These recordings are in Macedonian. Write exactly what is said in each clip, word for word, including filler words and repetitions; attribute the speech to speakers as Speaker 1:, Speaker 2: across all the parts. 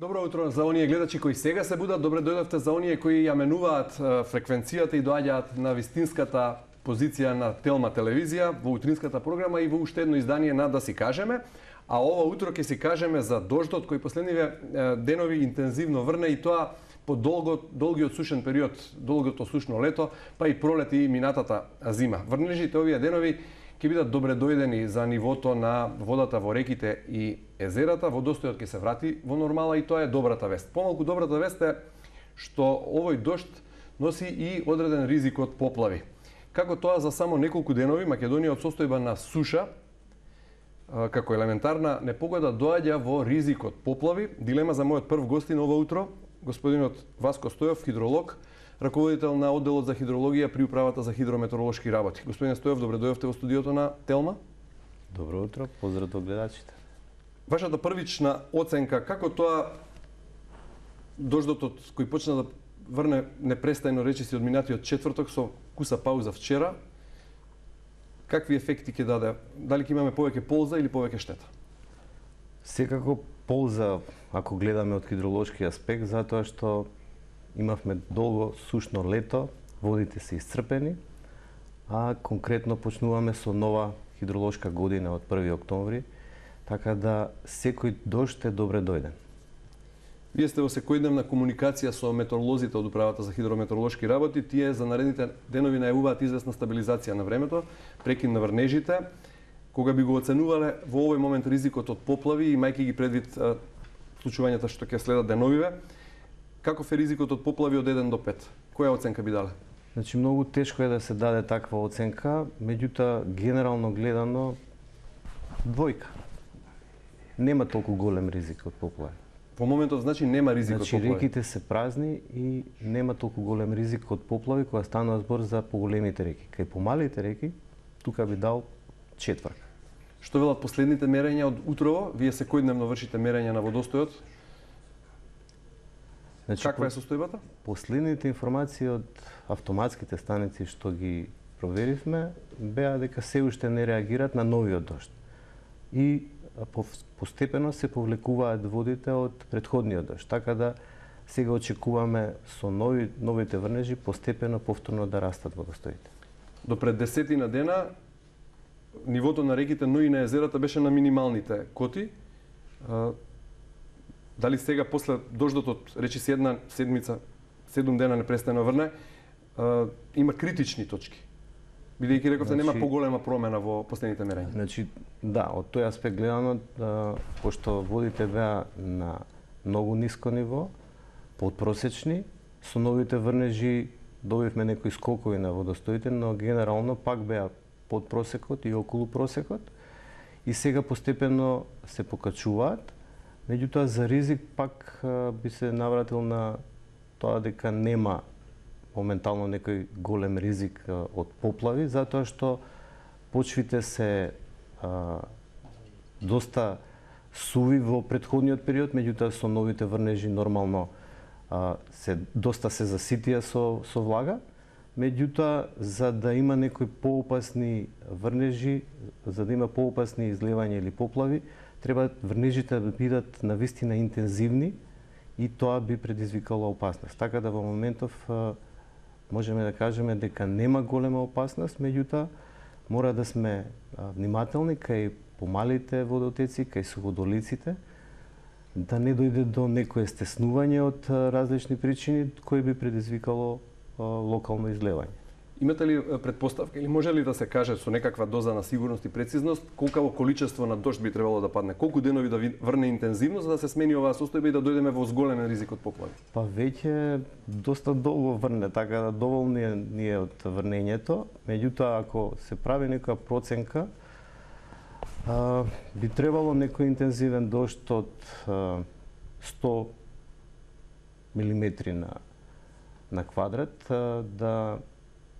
Speaker 1: Добро утро за оние гледачи кои сега се будат, добре дојдовте за оние кои ја менуваат фреквенцијата и доаѓаат на вистинската позиција на Телма телевизија во утринската програма и во уште едно издание на Да си кажеме. А ова утро ќе си кажеме за дождот кој последниве денови интензивно врне и тоа по долго, долгиот сушен период, долгото сушно лето, па и пролет и минатата зима. Врнежите овие денови ќе бидат добре дојдени за нивото на водата во реките и езерата, водостојот ќе се врати во нормала и тоа е добрата вест. Помалку добрата вест е што овој дожд носи и одреден ризик од поплави. Како тоа за само неколку денови Македонија од состојба на суша како елементарна непогода доаѓа во ризик од поплави. Дилема за мојот прв гостин ова утро, господинот Васко Стојов, хидролог, раководител на одделот за хидрологија при управата за хидрометеоролошки работи. Господин Стојов, добре дојдовте во студиото на Телма.
Speaker 2: Добро утро, поздрав до гледачите.
Speaker 1: Вашата првична оценка, како тоа дождот кој почна да врне непрестајно речиси од минатиот четврток со куса пауза вчера, какви ефекти ќе даде? Дали ќе имаме повеќе полза или повеќе штета?
Speaker 2: Секако полза, ако гледаме од хидролошки аспект, затоа што имавме долго сушно лето, водите се исцрпени, а конкретно почнуваме со нова хидролошка година од први октомври, така да секој дожд е добре дојден.
Speaker 1: Вие сте во секојдневна комуникација со метеоролозите од управата за хидрометеоролошки работи, тие за наредните денови најавуваат известна стабилизација на времето, прекин на врнежите. Кога би го оценувале во овој момент ризикот од поплави, имајќи ги предвид а, случувањата што ќе следат деновиве, каков е ризикот од поплави од еден до пет? Која оценка би дале?
Speaker 2: Значи, многу тешко е да се даде таква оценка, меѓутоа, генерално гледано, двојка. Нема толку голем ризик од поплави.
Speaker 1: Во моментот, значи, нема ризик
Speaker 2: значи,
Speaker 1: од поплави?
Speaker 2: Значи, реките се празни и нема толку голем ризик од поплави кога станува збор за поголемите реки. Кај помалите реки, тука би дал четврка.
Speaker 1: Што велат последните мерења од утрово? Вие секојдневно вршите мерења на водостојот. Значи, каква е состојбата?
Speaker 2: Последните информации од автоматските станици што ги проверивме беа дека се уште не реагираат на новиот дожд. И постепено се повлекуваат водите од претходниот дожд, така да сега очекуваме со нови, новите врнежи постепено повторно да растат водостоите.
Speaker 1: До пред десетина дена нивото на реките, но и на езерата беше на минималните коти. Дали сега после дождот од речиси една седмица, седум дена непрестано врне, има критични точки? Бидејќи рековте, значи, нема поголема промена во последните мерења.
Speaker 2: Значи, да, од тој аспект гледано, да, пошто водите беа на многу ниско ниво, подпросечни, со новите врнежи добивме некои скокови на водостоите, но генерално пак беа под просекот и околу просекот, и сега постепено се покачуваат, меѓутоа за ризик пак би се навратил на тоа дека нема моментално некој голем ризик од поплави, затоа што почвите се а, доста суви во претходниот период, меѓутоа со новите врнежи нормално а, се доста се заситија со со влага, меѓутоа за да има некои поопасни врнежи, за да има поопасни изливања или поплави, треба врнежите да бидат навистина интензивни и тоа би предизвикало опасност. Така да во моментов а, можеме да кажеме дека нема голема опасност, меѓутоа мора да сме внимателни кај помалите водотеци, кај суходолиците, да не дојде до некое стеснување од различни причини кои би предизвикало локално излевање.
Speaker 1: Имате ли предпоставка или може ли да се каже со некаква доза на сигурност и прецизност колкаво количество на дожд би требало да падне? Колку денови да врне интензивно за да се смени оваа состојба и да дојдеме во зголемен ризик од поплави?
Speaker 2: Па веќе доста долго врне, така да доволни е ние од врнењето. Меѓутоа, ако се прави некоја проценка, а, би требало некој интензивен дожд од а, сто милиметри на на квадрат а, да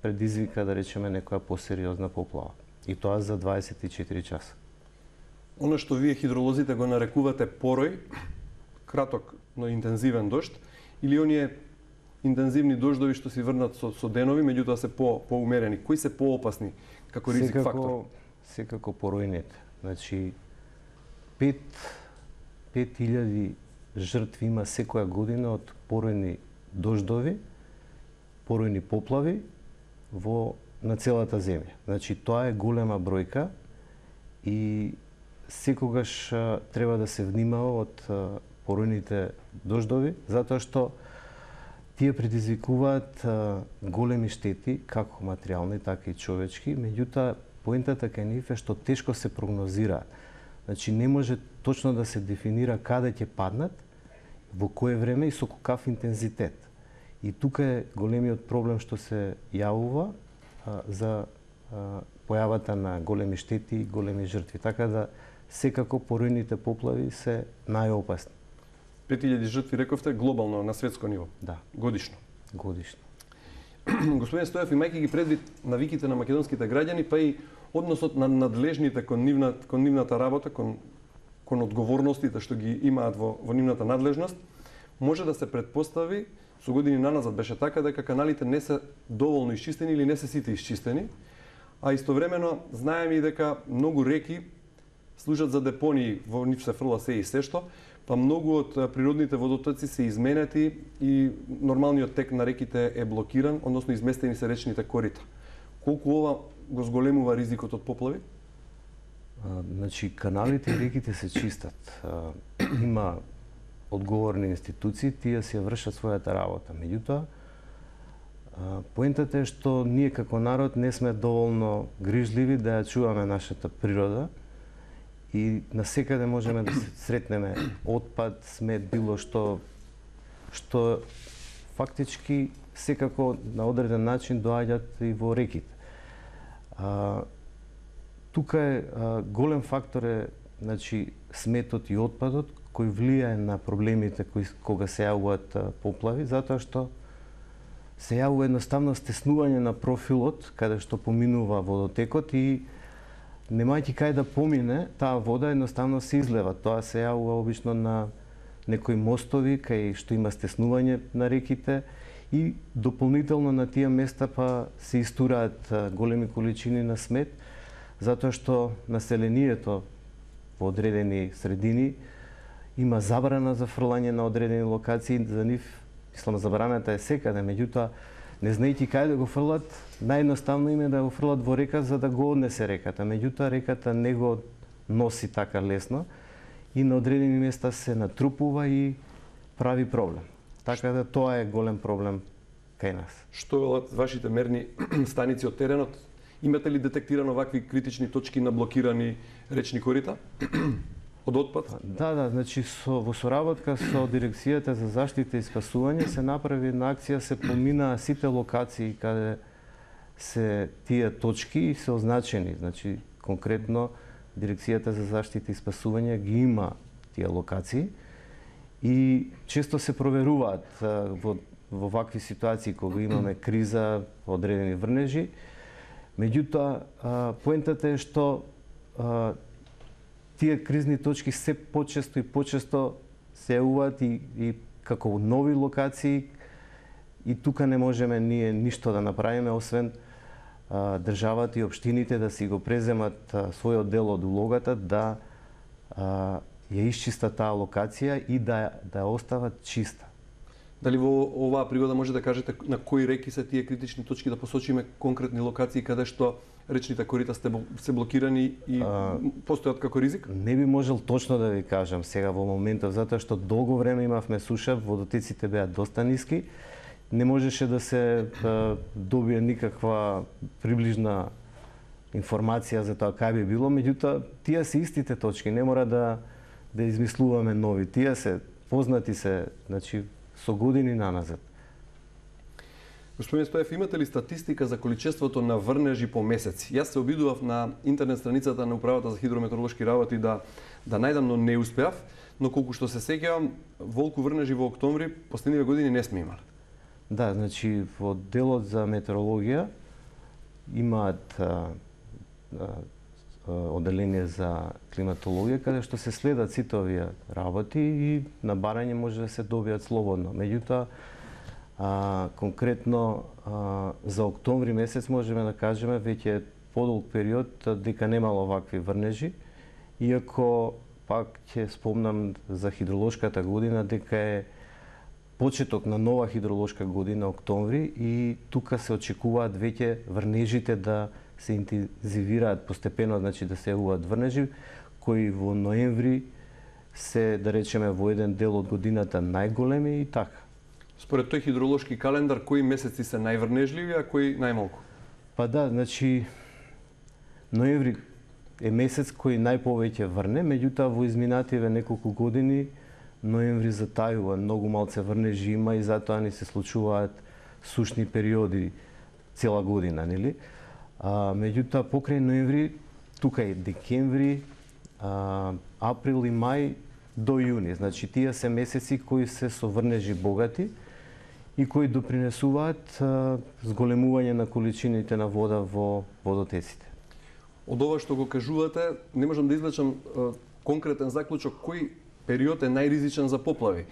Speaker 2: предизвика, да речеме, некоја посериозна поплава. И тоа за дваесет и четири часа.
Speaker 1: Оно што вие хидролозите го нарекувате порој, краток, но интензивен дожд, или оние интензивни дождови што си врнат со, со денови, меѓутоа се по поумерени. Кои се поопасни како ризик
Speaker 2: секако,
Speaker 1: фактор?
Speaker 2: Секако поројните. Значи, пет илјади жртви има секоја година од поројни дождови, поројни поплави во на целата земја. Значи тоа е голема бројка и секогаш а, треба да се внимава од а, поројните дождови, затоа што тие предизвикуваат а, големи штети, како материјални, така и човечки, меѓутоа поентата кај нив е што тешко се прогнозира. Значи не може точно да се дефинира каде ќе паднат, во кое време и со каков интензитет. И тука е големиот проблем што се јавува а, за а, појавата на големи штети и големи жртви. Така да секако поројните поплави се најопасни.
Speaker 1: пет илјади жртви рековте глобално на светско ниво.
Speaker 2: Да.
Speaker 1: Годишно.
Speaker 2: Годишно.
Speaker 1: Господин Стоев, имајќи ги предвид навиките на македонските граѓани, па и односот на надлежните кон, нивна, кон нивната работа, кон, кон одговорностите што ги имаат во, во нивната надлежност, може да се предпостави, со години наназад беше така, дека каналите не се доволно исчистени или не се сите исчистени, а истовремено знаеме и дека многу реки служат за депонии, во нив се фрла се и се што, па многу од природните водотоци се изменети и нормалниот тек на реките е блокиран, односно изместени се речните корита. Колку ова го зголемува ризикот од поплави?
Speaker 2: А, значи, каналите и реките се чистат. А, има одговорни институции, тие си ја вршат својата работа. Меѓутоа, поентата е што ние како народ не сме доволно грижливи да ја чуваме нашата природа и насекаде можеме да се сретнеме отпад, смет, било што што фактички секако на одреден начин доаѓаат и во реките. А, тука е а, голем фактор е, значи, сметот и отпадот кој влијае на проблемите кои кога се јавуваат поплави, затоа што се јавува едноставно стеснување на профилот каде што поминува водотекот и немајќи кај да помине, таа вода едноставно се излева. Тоа се јавува обично на некои мостови кај што има стеснување на реките и дополнително на тие места па се истураат големи количини на смет, затоа што населението во одредени средини има забрана за фрлање на одредени локации, за нив мислам забраната е секаде, меѓутоа не знаејќи кај да го фрлат, наједноставно им е да го фрлат во река за да го однесе реката. Меѓутоа реката не го носи така лесно и на одредени места се натрупува и прави проблем. Така да тоа е голем проблем кај нас.
Speaker 1: Што велат вашите мерни станици од теренот? Имате ли детектирано вакви критични точки на блокирани речни корита од отпад?
Speaker 2: Да, да, значи со во соработка со Дирекцијата за заштита и спасување се направи една акција, се поминаа сите локации каде се тие точки и се означени. Значи конкретно Дирекцијата за заштита и спасување ги има тие локации и често се проверуваат во во вакви ситуации кога имаме криза, одредени врнежи. Меѓутоа, поентата е што а, тие кризни точки се почесто и почесто се јавуваат и, и како нови локации и тука не можеме ние ништо да направиме, освен а, државата и општините да си го преземат а, својот дел од улогата да а, ја исчистат таа локација и да, да ја остават чиста.
Speaker 1: Дали во оваа пригода може да кажете на кои реки се тие критични точки, да посочиме конкретни локации каде што речните корита се блокирани и а, постојат како ризик?
Speaker 2: Не би можел точно да ви кажам сега во моментов, затоа што долго време имавме суша, водотеците беа доста ниски, не можеше да се а, добие никаква приближна информација за тоа кај би било, меѓутоа тие се истите точки, не мора да да измислуваме нови, тие се познати се, значи со години наназад.
Speaker 1: Господин Стоев, имате ли статистика за количеството на врнежи по месеци? Јас се обидував на интернет страницата на Управата за хидрометеоролошки работи да да најдам, но не успеав, но колку што се сеќавам, волку врнежи во октомври последниве години не сме имали.
Speaker 2: Да, значи во делот за метеорологија имаат а, а, одделение за климатологија каде што се следат сите овие работи и на барање може да се добијат слободно. Меѓутоа, а, конкретно а, за октомври месец можеме да кажеме веќе подолг период дека немало вакви врнежи, иако пак ќе спомнам за хидролошката година дека е почеток на нова хидролошка година октомври и тука се очекуваат веќе врнежите да се интензивираат постепено, значи да се јавуваат врнежи кои во ноември се, да речеме, во еден дел од годината најголеми и така.
Speaker 1: Според тој хидролошки календар, кои месеци се најврнежливи, а кои најмалку?
Speaker 2: Па да, значи ноември е месец кој најповеќе врне, меѓутоа во изминативе неколку години ноември затајува, многу малце врнежи има и затоа ни се случуваат сушни периоди цела година, нели? А, меѓутоа покрај ноември тука е декември, а, април и мај до јуни. Значи тие се месеци кои се со врнежи богати и кои допринесуваат а, зголемување на количините на вода во водотеците.
Speaker 1: Од ова што го кажувате, не можам да извлечам а, конкретен заклучок кој период е најризичен за поплави.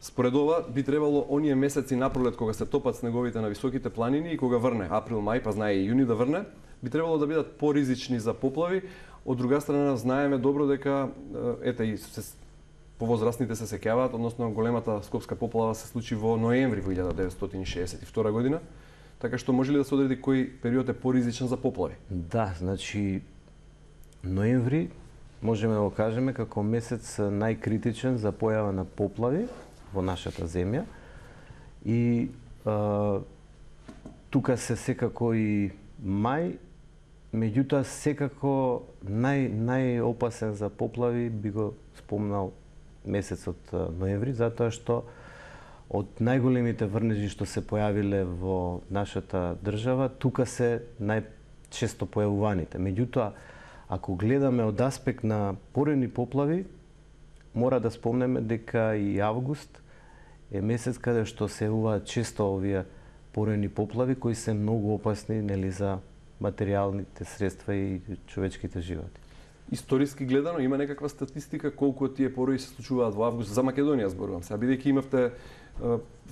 Speaker 1: Според ова би требало оние месеци напролет кога се топат снеговите на високите планини и кога врне април, мај, па знае и јуни да врне, би требало да бидат поризични за поплави. Од друга страна знаеме добро дека ете и се повозрастните се сеќаваат, односно големата скопска поплава се случи во ноември во илјада деветстотини шеесет и втора година. Така што може ли да се одреди кој период е поризичен за поплави?
Speaker 2: Да, значи ноември можеме да го кажеме како месец најкритичен за појава на поплави во нашата земја и а, тука се секако и мај, меѓутоа секако нај најопасен за поплави би го спомнал месецот ноември, затоа што од најголемите врнежи што се појавиле во нашата држава, тука се најчесто појавуваните. Меѓутоа, ако гледаме од аспект на порани поплави, мора да спомнеме дека и август е месец каде што се јавуваат често овие порани поплави кои се многу опасни, нели, за материјалните средства и човечките животи.
Speaker 1: Историски гледано има некаква статистика колку од тие порои се случуваат во август за Македонија, зборувам се, бидејќи имавте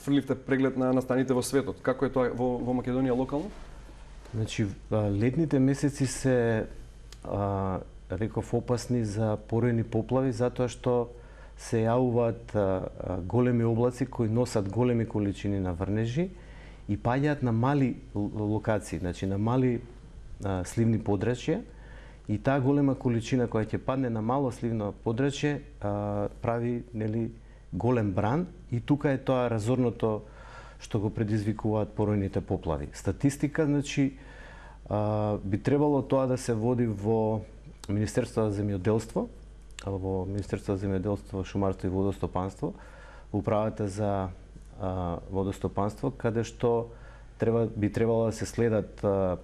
Speaker 1: фрливте преглед на настаните во светот. Како е тоа во, во Македонија локално?
Speaker 2: Значи летните месеци се а, реков опасни за порани поплави затоа што се јавуваат а, големи облаци кои носат големи количини на врнежи и паѓаат на мали локации, значи на мали а, сливни подрачја. И таа голема количина која ќе падне на мало сливно подрачје а, прави, нели, голем бран и тука е тоа разорното што го предизвикуваат поројните поплави. Статистика, значи, а, би требало тоа да се води во Министерството за земјоделство, во Министерството за земјоделство, шумарство и водостопанство, управата за а, водостопанство, каде што треба би требало да се следат а,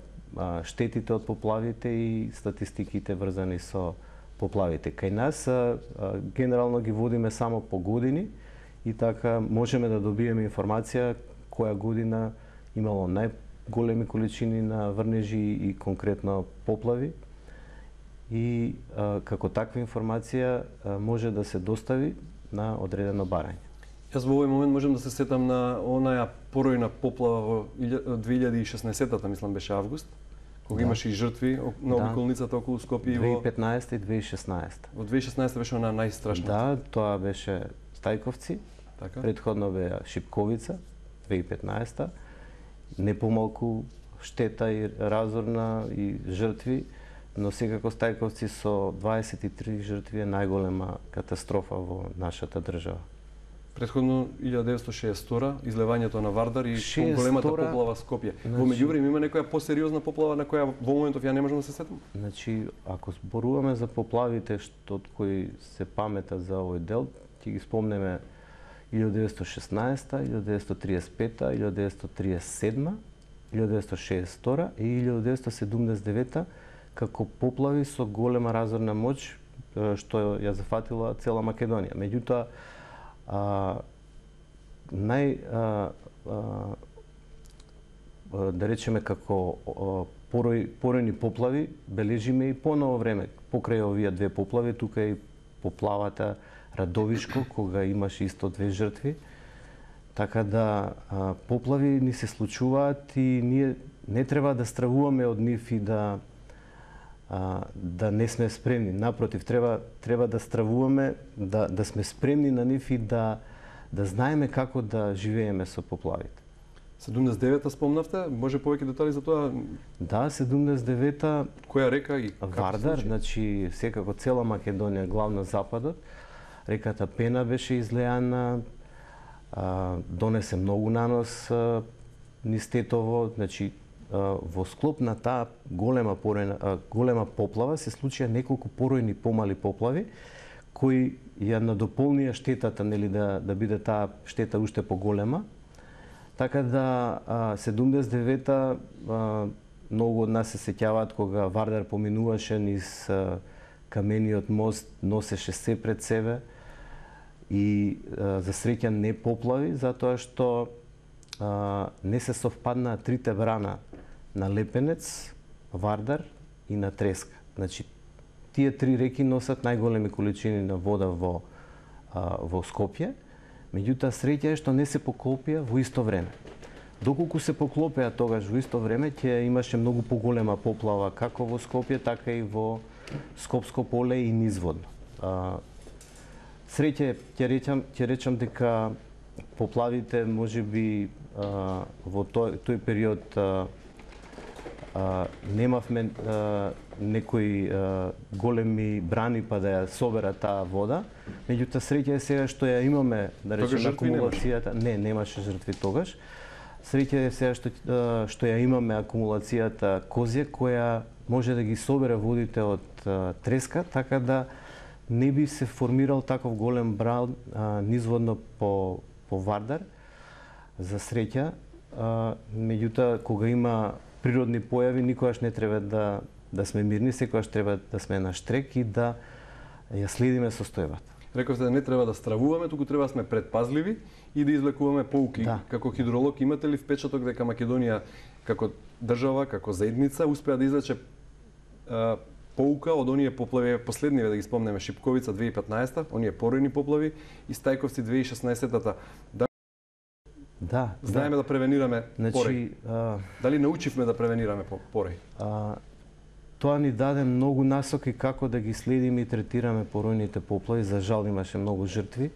Speaker 2: штетите од поплавите и статистиките врзани со поплавите. Кај нас а, а, генерално ги водиме само по години и така можеме да добиеме информација која година имало најголеми количини на врнежи и конкретно поплави. И а, како таква информација а, може да се достави на одредено барање.
Speaker 1: Јас во овој момент можам да се сетам на онаја поројна поплава во две илјади и шеснаесетта, мислам беше август, кога да. Имаше и жртви на да. Околницата околу Скопје.
Speaker 2: две илјади и петнаесета и две илјади и шеснаесета.
Speaker 1: Во две илјади и шеснаесета беше она најстрашната.
Speaker 2: Да, тоа беше Стајковци. Така. Претходно беа Шипковица, две илјади и петнаесета. Не помалку штета и разорна и жртви, но секако Стајковци со дваесет и три жртви е најголема катастрофа во нашата држава.
Speaker 1: Претходно илјада деветстотини и шеесет и втора излевањето на Вардар и големата поплава Скопје. Значи, во меѓувреме има некоја посериозна поплава на која во моментов ја не можам да се сетам.
Speaker 2: Значи, ако зборуваме за поплавите што од кои се памета за овој дел, ќе ги спомнеме илјада деветстотини и шеснаесета, илјада деветстотини триесет и пета, илјада деветстотини триесет и седма, илјада деветстотини шеесет и втора и илјада деветстотини седумдесет и девета како поплави со голема разорна моќ што ја зафатила цела Македонија. Меѓутоа, А, нај а, а, да речеме како порој, поројни поплави бележиме и поново време покрај овие две поплави, тука е и поплавата Радовишко кога имаше исто две жртви. Така да а, поплави ни се случуваат и ние не треба да стравуваме од нив и да а, да не сме спремни. Напротив, треба треба да стравуваме, да да сме спремни на нив и да да знаеме како да живееме со поплавите.
Speaker 1: седумдесет и девета спомнавте, може повеќе детали за тоа?
Speaker 2: Да, седумдесет и девета
Speaker 1: која река и
Speaker 2: Вардар, значи секако цела Македонија, главно западот. Реката Пена беше излеана, а, донесе многу нанос а, низ Тетово, значи а, во склоп на таа голема поројна, а, голема поплава се случија неколку поројни помали поплави кои ја надополнија штетата, нели, да да биде таа штета уште поголема. Така да а, седумдесет и девета а, многу од нас се сеќаваат кога Вардар поминуваше низ а, камениот мост, носеше се пред себе и а, за среќа не поплави, затоа што а, не се совпаднаа трите брана на Лепенец, Вардар и на Треска. Значи, тие три реки носат најголеми количини на вода во, а, во Скопје, меѓутоа среќа е што не се поклопија во исто време. Доколку се поклопеа тогаш во исто време, ќе имаше многу поголема поплава како во Скопје, така и во Скопско поле и низводно. А, среќа ќе речам, ќе речам дека поплавите можеби а, во тој, тој период а, а, немавме а, некои а, големи брани па да ја собера таа вода, меѓутоа среќа е сега што ја имаме, да речеме, акумулацијата. Не, немаше жртви тогаш. Среќа е сега што што ја имаме акумулацијата Козје, која може да ги собере водите од а, Треска, така да не би се формирал таков голем бран а, низводно по по Вардар. За среќа, а, меѓутоа кога има природни појави, никогаш не треба да да сме мирни, секогаш треба да сме на штрек и да ја следиме состојбата.
Speaker 1: Рековте да не треба да стравуваме, туку треба да сме предпазливи и да извлекуваме поуки. Да. Како хидролог имате ли впечаток дека Македонија како држава, како заедница успеа да извлече а, поука од оние поплави, последниве да ги спомнеме, Шипковица две илјади и петнаесета, оние поројни поплави и Стајковци две илјади и шеснаесета. Да,
Speaker 2: да,
Speaker 1: знаеме да, да превенираме
Speaker 2: значи,
Speaker 1: порој.
Speaker 2: А...
Speaker 1: Дали научивме да превенираме порој?
Speaker 2: А... Тоа ни даде многу насоки како да ги следиме и третираме поројните поплави. За жал имаше многу жртви.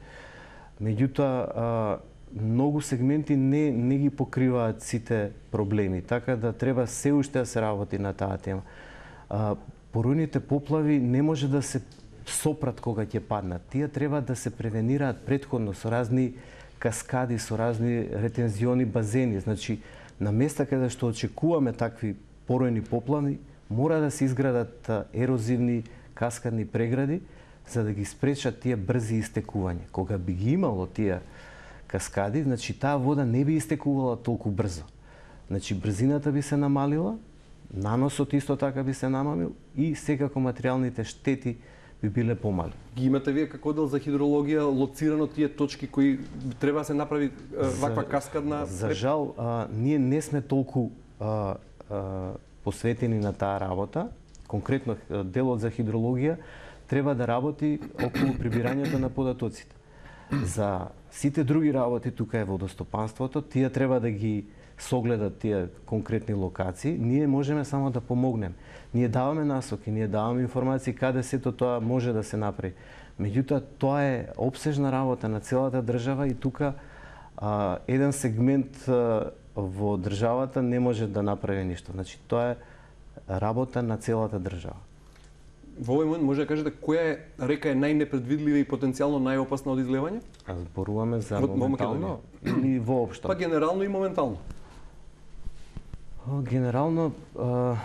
Speaker 2: Меѓутоа, многу сегменти не, не ги покриваат сите проблеми, така да треба се уште да се работи на таа тема. А, поројните поплави не може да се сопрат кога ќе паднат. Тие треба да се превенираат претходно со разни каскади, со разни ретензиони базени. Значи, на места каде што очекуваме такви поројни поплави, мора да се изградат ерозивни каскадни прегради за да ги спречат тие брзи истекувања. Кога би ги имало тие каскади, значи таа вода не би истекувала толку брзо. Значи брзината би се намалила, наносот исто така би се намалил и секако материјалните штети би биле помали.
Speaker 1: Ги имате вие како оддел за хидрологија лоцирано тие точки кои треба да се направи ваква
Speaker 2: за,
Speaker 1: каскадна?
Speaker 2: За жал, а, ние не сме толку а, а, посветени на таа работа. Конкретно делот за хидрологија треба да работи околу прибирањето на податоците. За сите други работи, тука е водостопанството, тие треба да ги согледат тие конкретни локации. Ние можеме само да помогнем. Ние даваме насоки, ние даваме информации каде сето тоа може да се направи. Меѓутоа, тоа е опсежна работа на целата држава и тука а, еден сегмент а, во државата не може да направи ништо. Значи, тоа е работа на целата држава.
Speaker 1: Во овој момент може да кажете која река е најнепредвидлива и потенцијално најопасна од излевање?
Speaker 2: А зборуваме за во, моментално или воопшто?
Speaker 1: Па генерално и моментално.
Speaker 2: Генерално, а,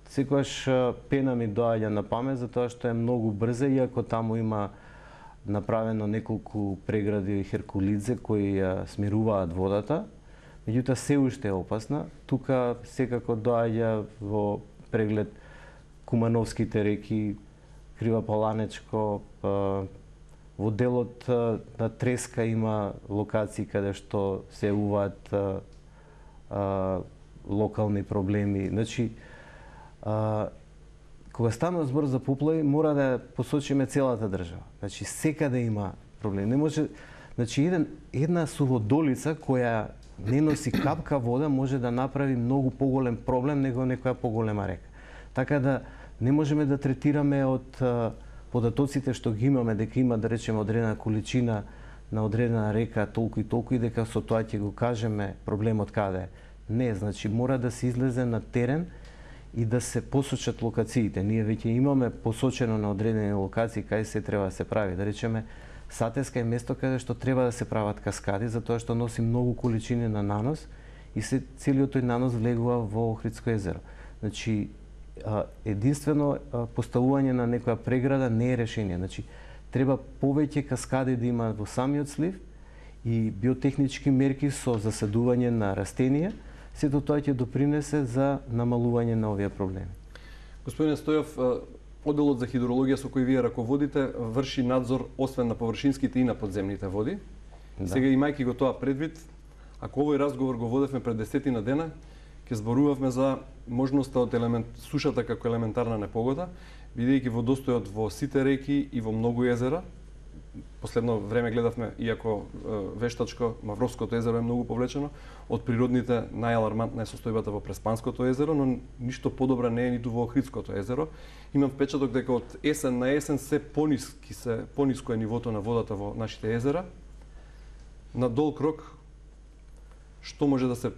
Speaker 2: секогаш Пена ми доаѓа на памет затоа што е многу брза, иако таму има направено неколку прегради Херкулидзе кои ја смируваат водата, меѓутоа се уште е опасна. Тука секако доаѓа во преглед Кумановските реки, Кривопаланечко, во делот на Треска има локации каде што се јавуваат локални проблеми. Значи, а, кога станува збор за поплави, мора да посочиме целата држава. Значи, секаде има проблеми. Не може, значи, еден, една суводолица која не носи капка вода може да направи многу поголем проблем него некоја поголема река. Така да не можеме да третираме од податоците што ги имаме дека има, да речеме, одредена количина на одредена река толку и толку и дека со тоа ќе го кажеме проблемот каде е. Не, значи мора да се излезе на терен и да се посочат локациите. Ние веќе имаме посочено на одредени локации кај се треба да се прави. Да речеме, Сатеска е место каде што треба да се прават каскади, затоа што носи многу количини на нанос и се целиот тој нанос влегува во Охридско езеро. Значи, единствено поставување на некоја преграда не е решение. Значи, треба повеќе каскади да има во самиот слив и биотехнички мерки со засадување на растенија, сето тоа ќе допринесе за намалување на овие проблеми.
Speaker 1: Господине Стојов, Оделот за хидрологија со кој вие раководите врши надзор освен на површинските и на подземните води. Да. Сега, имајќи го тоа предвид, ако овој разговор го водевме пред десетина дена, ќе зборувавме за можноста од елемент, сушата како елементарна непогода, бидејќи водостојот во сите реки и во многу езера, последно време гледавме, иако вештачко, Мавровското езеро е многу повлечено, од природните најалармантна е состојбата во Преспанското езеро, но ништо подобра не е ниту во Охридското езеро. Имам впечаток дека од есен на есен се пониски се пониско е нивото на водата во нашите езера. На долг рок, што може да се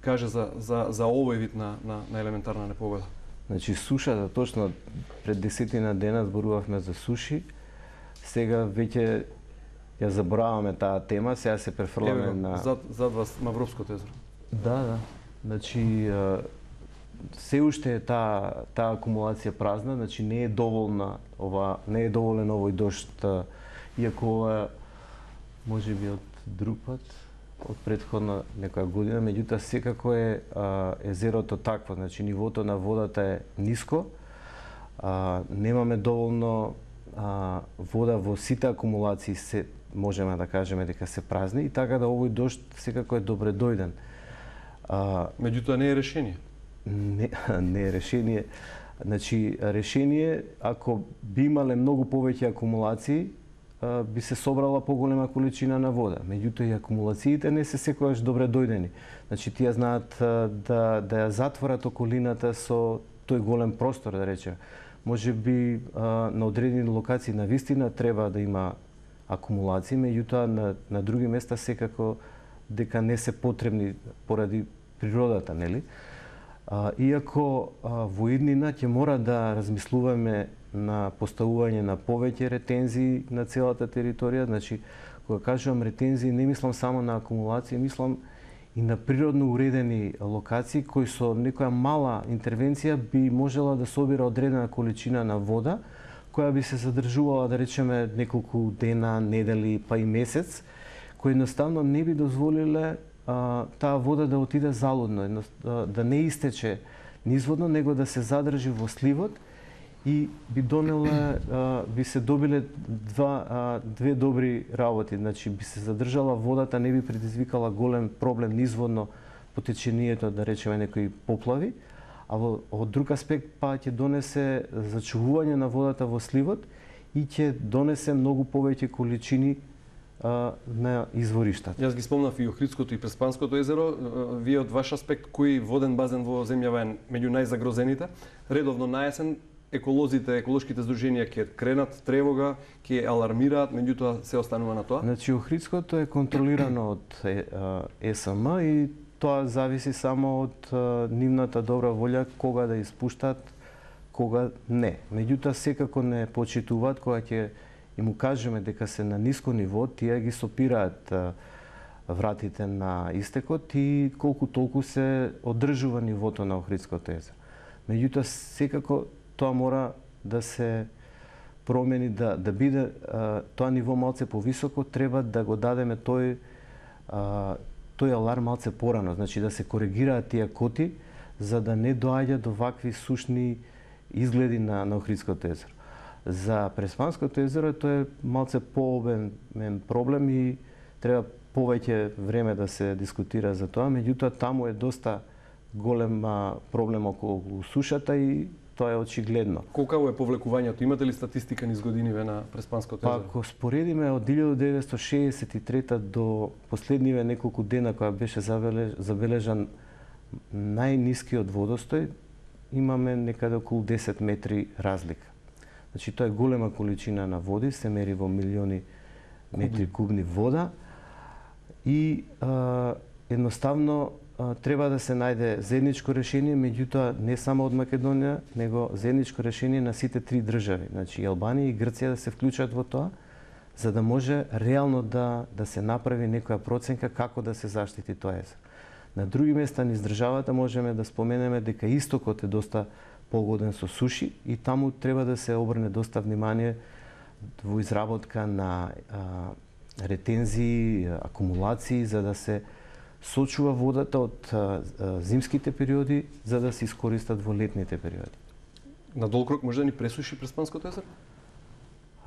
Speaker 1: каже за за за овој вид на на, на елементарна непогода?
Speaker 2: Значи сушата, точно пред десетина дена зборувавме за суши. Сега веќе ја забораваме таа тема, сега се префрламе
Speaker 1: Еве,
Speaker 2: на
Speaker 1: зад зад вас Мавровското езеро.
Speaker 2: Да, да. Значи се уште е таа таа акумулација празна, значи не е доволна ова, не е доволен овој дожд, иако ова можеби од друг пат, од претходна некоја година, меѓутоа секако е а, езерото такво, значи нивото на водата е ниско, а, немаме доволно а, вода во сите акумулации, се можеме да кажеме дека се празни, и така да овој дожд секако е добре дојден. А,
Speaker 1: Меѓутоа не е решение.
Speaker 2: Не, не е решение. Значи, решение, ако би имале многу повеќе акумулации, би се собрала поголема количина на вода. Меѓутоа и акумулациите не се секогаш добре дојдени. Значи, тие знаат да, да ја затворат околината со тој голем простор, да речеме. Може би на одредени локации на вистина треба да има акумулации, меѓутоа на, на други места секако дека не се потребни поради природата, нели? А, иако а, во иднина ќе мора да размислуваме на поставување на повеќе ретензии на целата територија, значи кога кажувам ретензии не мислам само на акумулација, мислам и на природно уредени локации кои со некоја мала интервенција би можела да собира одредена количина на вода која би се задржувала, да речеме, неколку дена, недели, па и месец, кои едноставно не би дозволиле а, таа вода да отиде залудно, да не истече низводно, него да се задржи во сливот и би донеле, а, би се добиле два, а, две добри работи. Значи, би се задржала водата, не би предизвикала голем проблем низводно по течението, да речеме, некои поплави, а во, од друг аспект па ќе донесе зачувување на водата во сливот и ќе донесе многу повеќе количини а, на извориштата.
Speaker 1: Јас ги спомнав и Охридското и Преспанското езеро. Вие од ваш аспект, кој воден базен во земјава е меѓу најзагрозените? Редовно на есен еколозите, еколошките здруженија ќе кренат тревога, ќе алармираат, меѓутоа се останува на тоа?
Speaker 2: Значи, Охридското е контролирано од Е С М и тоа зависи само од а, нивната добра волја кога да испуштат, кога не. Меѓутоа секако не почитуваат кога ќе им кажеме дека се на ниско ниво, тие ги сопираат а, вратите на истекот и колку толку се одржува нивото на Охридското езеро. Меѓутоа секако тоа мора да се промени, да да биде а, тоа ниво малце повисоко, треба да го дадеме тој а, тој аларм малце порано, значи да се коригираат тие коти за да не доаѓа до вакви сушни изгледи на, на Охридското езеро. За Преспанското езеро тоа е малце пообемен проблем и треба повеќе време да се дискутира за тоа, меѓутоа таму е доста голем проблем околу сушата и тоа е очигледно.
Speaker 1: Колку е повлекувањето? Имате ли статистика низ годиниве на Преспанското езеро?
Speaker 2: Па, ако споредиме од илјадум деветстотини шеесет и трета до последниве неколку дена кога беше забележан најнискиот водостој, имаме некаде околу десет метри разлика. Значи тоа е голема количина на води, се мери во милиони метри кубни вода и а, едноставно а, треба да се најде заедничко решение, меѓутоа не само од Македонија, него заедничко решение на сите три држави, значи и Албанија и Грција да се вклучат во тоа, за да може реално да да се направи некоја проценка како да се заштити тоа езеро. На други места низ државата можеме да споменеме дека истокот е доста погоден со суши и таму треба да се обрне доста внимание во изработка на а, ретензии, акумулации, за да се сочува водата од а, а, зимските периоди, за да се искористат во летните периоди.
Speaker 1: На долг рок може да ни пресуши Преспанското езеро?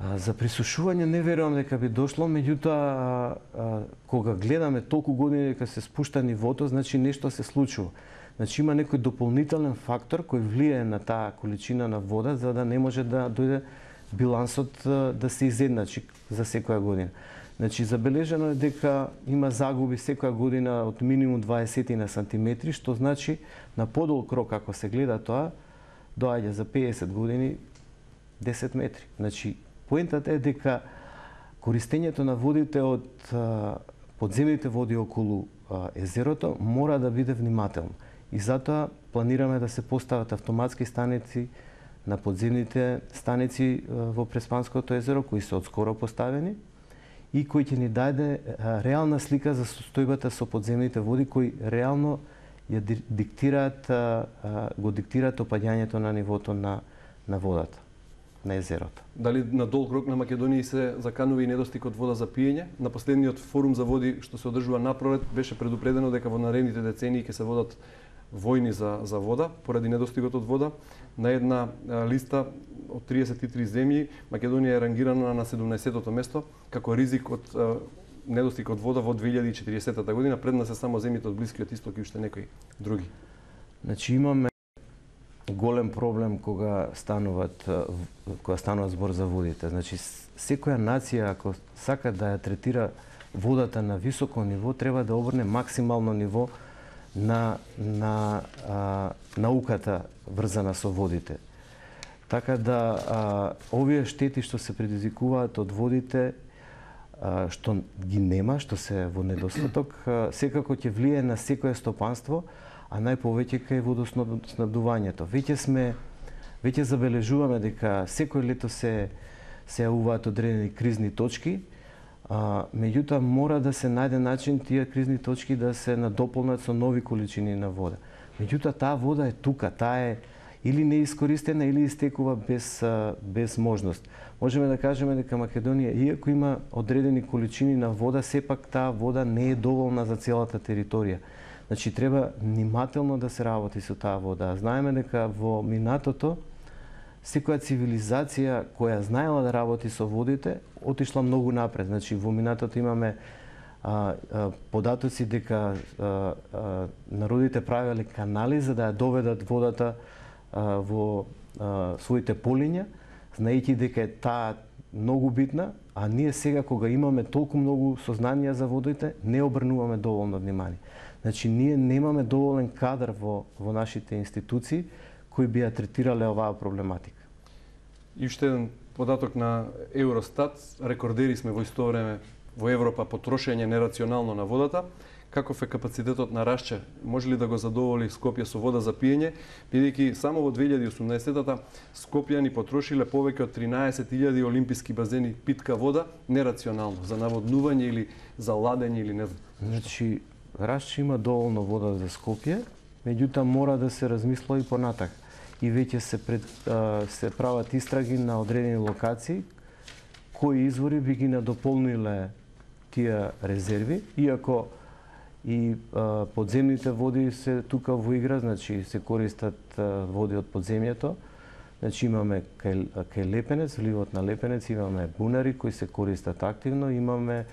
Speaker 2: А, за присушување не верувам дека би дошло, меѓутоа кога гледаме толку години дека се спушта нивото, значи нешто се случува. Значи има некој дополнителен фактор кој влијае на таа количина на вода за да не може да дојде билансот да се изедначи за секоја година. Значи забележано е дека има загуби секоја година од минимум дваесет на сантиметри, што значи на подолг рок ако се гледа тоа доаѓа за пеесет години десет метри. Значи поентата е дека користењето на водите од а, подземните води околу а, езерото мора да биде внимателно. И затоа планираме да се постават автоматски станици на подземните станици а, во Преспанското езеро, кои се одскоро поставени и кои ќе ни даде а, реална слика за состојбата со подземните води, кои реално ја диктираат, а, а, го диктираат опаѓањето на нивото на, на водата, на езерото.
Speaker 1: Дали на долг рок на Македонија се заканува и недостиг од вода за пиење? На последниот форум за води што се одржува напролет беше предупредено дека во наредните децении ќе се водат војни за, за вода поради недостигот од вода. На една а, листа од триесет и три земји Македонија е рангирана на седумнаесеттото место како ризик од а, недостиг од вода во две илјади и четиридесета година. Пред нас се само земјите од Блискиот исток и уште некои други.
Speaker 2: Значи имаме голем проблем кога стануваат кога станува збор за водите. Значи секоја нација ако сака да ја третира водата на високо ниво, треба да обрне максимално ниво на на а, науката врзана со водите. Така да а, овие штети што се предизвикуваат од водите, а, што ги нема, што се во недостаток, а, секако ќе влие на секое стопанство, а најповеќе кај водоснабдувањето. Веќе сме веќе забележуваме дека секој лето се се јавуваат одредени кризни точки, а, меѓутоа мора да се најде начин тие кризни точки да се надополнат со нови количини на вода. Меѓутоа таа вода е тука, таа е или неискористена или истекува без без можност. Можеме да кажеме дека Македонија, иако има одредени количини на вода, сепак таа вода не е доволна за целата територија. Значи треба внимателно да се работи со таа вода. Знаеме дека во минатото секоја цивилизација која знаела да работи со водите отишла многу напред. Значи во минатото имаме а, а, податоци дека а, а, народите правеле канали за да ја доведат водата а, во а, своите полиња, знаејќи дека е таа многу битна, а ние сега кога имаме толку многу сознанија за водите, не обрнуваме доволно внимание. Значи ние немаме доволен кадар во во нашите институции кои би ја третирале оваа проблематика.
Speaker 1: И уште еден податок на Евростат, рекордери сме во исто време во Европа по трошење нерационално на водата. Каков е капацитетот на Рашче? Може ли да го задоволи Скопје со вода за пиење, бидејќи само во две илјади и осумнаесеттата Скопјани потрошиле повеќе од тринаесет илјади олимписки базени питка вода нерационално за наводнување или за ладење или не знам.
Speaker 2: Значи Рашче има доволно вода за Скопје, меѓутоа мора да се размисла и понатак. И веќе се пред, а, се прават истраги на одредени локации кои извори би ги надополниле тие резерви, иако и а, подземните води се тука во игра, значи се користат а, води од подземјето. Значи имаме кај, кај Лепенец, вливот на Лепенец, имаме бунари кои се користат активно, имаме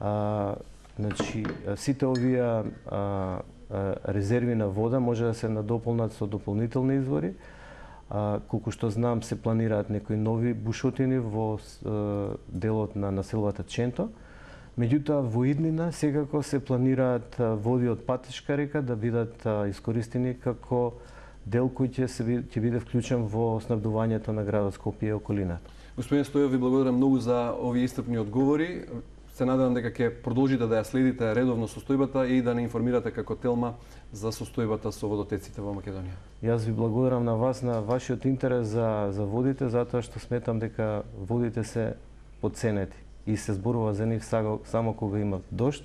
Speaker 2: а, значи сите овие а, а, резерви на вода може да се надополнат со дополнителни извори. А, колку што знам се планираат некои нови бушотини во а, делот на населбата Ченто. Меѓутоа во иднина секако се планираат води од Патешка река да бидат искористени како дел кој ќе се ќе биде вклучен во снабдувањето на градот Скопје и околината.
Speaker 1: Господин Стојов, ви благодарам многу за овие истрпни одговори. Се надевам дека ќе продолжите да ја следите редовно состојбата и да не информирате како Телма за состојбата со водотеците во Македонија.
Speaker 2: Јас ви благодарам на вас, на вашиот интерес за, за водите, затоа што сметам дека водите се подценети и се зборува за нив само кога има дожд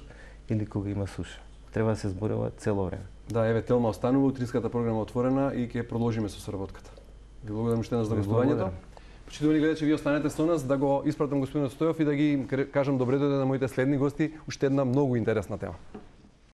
Speaker 2: или кога има суша. Треба да се зборува цело време.
Speaker 1: Да, еве Телма останува, утринската програма отворена и ќе продолжиме со соработката. Ви благодарам уште еднаш за гостувањето. Почитувани гледачи, ви останете со нас да го испратам господинот Стојов и да ги кажам добре дојде на моите следни гости, уште една многу интересна тема.